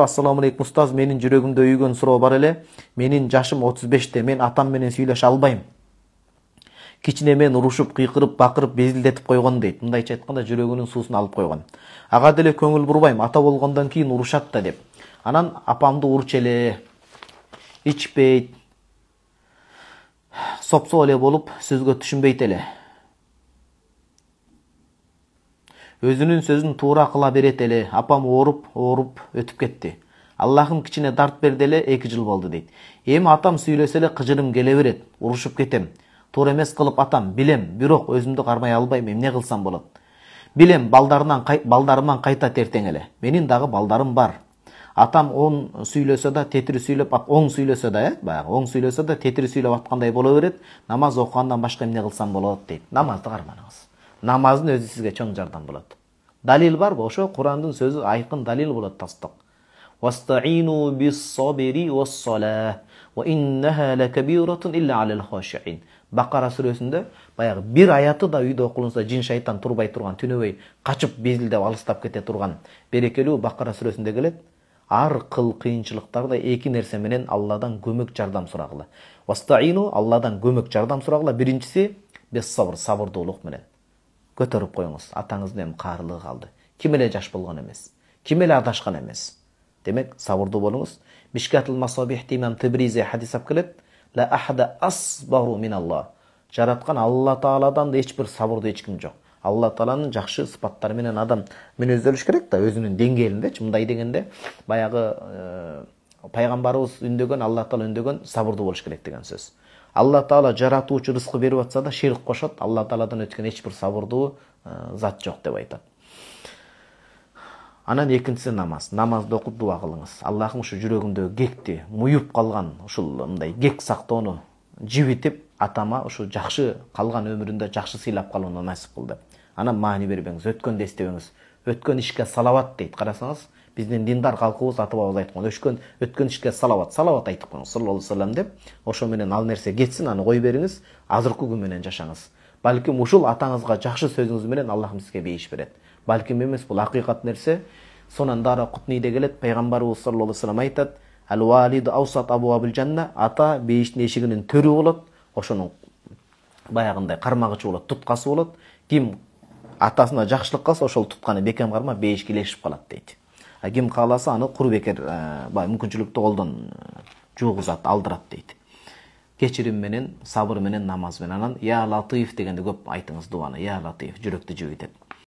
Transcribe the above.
Assalamu alaikum устаз, менин жүрөгүмдө үйгөн суроо бар эле. Менин жашым 35-те, мен атам менен сүйлөшө албайм. Кичине мен урушуп, кыйкырып, бакырып, безилдетип койгон дейт. Мындайча айтканда жүрөгүнүн суусун алып койгон. Ага деле көңүл бурбайм, ата болгондон кийин урушат да деп. Анан апамды урчу эле, ичпейт, сопсо эле болуп, сөзгө түшүнбөйт эле. Өзүнүн сөзүн туура кыла берет эле. Апам ооруп өтүп кетти. Аллахым кичине дарт берди эле, 2 жыл болду дейт. Эми атам сүйлөсө эле кыжырым келе берет, урушуп кетем. Туура эмес кылып атам, билем, бирок өзүмдү кармай албайм, эмне кылсам болот? Билем, балдарыман кайтат эртең эле. Менин дагы балдарым бар. Атам оң сүйлөсө да тетири сүйлөп, оң сүйлөсө да, баягы оң сүйлөсө да тетири сүйлөп аткандай боло берет. Намаз окугандан башка эмне кылсам болот дейт. Намазды карманыңыз. Намаздын өзү сизге чоң жардам болот. Далил барбы? Ошо Курандын сөзү айкын далил болот тастык. Вастаину бис-сабри вас-салаа ва иннаха лакабиратун илля алал хашиин. Бакара сүрөсүндө баягы бир аяты да үйдө окулунса жин шайтан турбай турган, түнөбөй качып безилдеп алыстап кете турган берекелүү Бакара сүрөсүндө келет. Ар кыл кыйынчылыктарда 2 нерсе менен Алладан көмөк жардам сурагыла. Вастаину Алладан көмөк жардам сурагыла. Биринчиси бес-сабр, сабырдуулук менен. Көтөрүп коюңуз. Атаңыздын эми каарылыгы калды. Ким эле жаш болгон эмес. Ким эле адашкан эмес. Демек, сабырдуу болуңуз. Мишкатул Масабихте имам Тебризи хадис алып келет. Ла ахада асбару миналлах. Жараткан Алла Тааладан да эч бир сабырдуу эч ким жок. Алла Тааланын жакшы сыпаттары менен адам мүнөздөлүш керек да, өзүнүн деңгээлинде. Мындай дегенде, баягы пайгамбарыбыз үндөгөн, Алла Таала үндөгөн сабырдуу болуш керек деген сөз. Алла Таала жаратуучу рызкы берип атса да ширк кошот. Алла Тааладан өткөн эч бир сабырдуу зат жок деп айтат. Анан экинчиси намаз. Намазды окуп дуа кылыңыз. Аллахым ушу жүрөгүмдөгү кекти, муюп калган ушул мындай кек сактоону жибитип, атама ушу жакшы калган өмүрүндө жакшы сыйлап калууну насип кыл деп. Анан маани бербеңиз, өткөндү эстебеңиз. Өткөн ишке салават дейт. Карасаңыз, биздин диндар калкыбыз ата-бабабыз айткан, өткөн ишке салават айтып коюңуз саллаллаху алейхи вассалам деп. Ошо менен ал нерсе кетсин, аны кой бериңиз, азыркы күн менен жашаңыз. Балким ушул атаңызга жакшы сөзүңүз менен Аллахым сизге бейиш берет. Балким эмес, бул акыйкат нерсе. Сонан Дара Кутнийде келет, пайгамбарыбыз саллаллаху алейхи вассалам айтат: "Ал-валиду аусат абуабил жанна", ата бейиштин эшигинин төрү болот. Ошонун баягындай кармагычы болот, туткасы болот. Ким атасына жакшылык кылса, ошол тутканы бекем кармап бейишке илешип калат дейт. Ким кааласа аны кур бекер мүмкүнчүлүктүү колдон жуугузат, алдырат дейт. Кечирим менен, сабыр менен, намаз менен. Анан я латиф дегенде көп айтыңыз дуаны. Я латиф жүрөктү жибитет.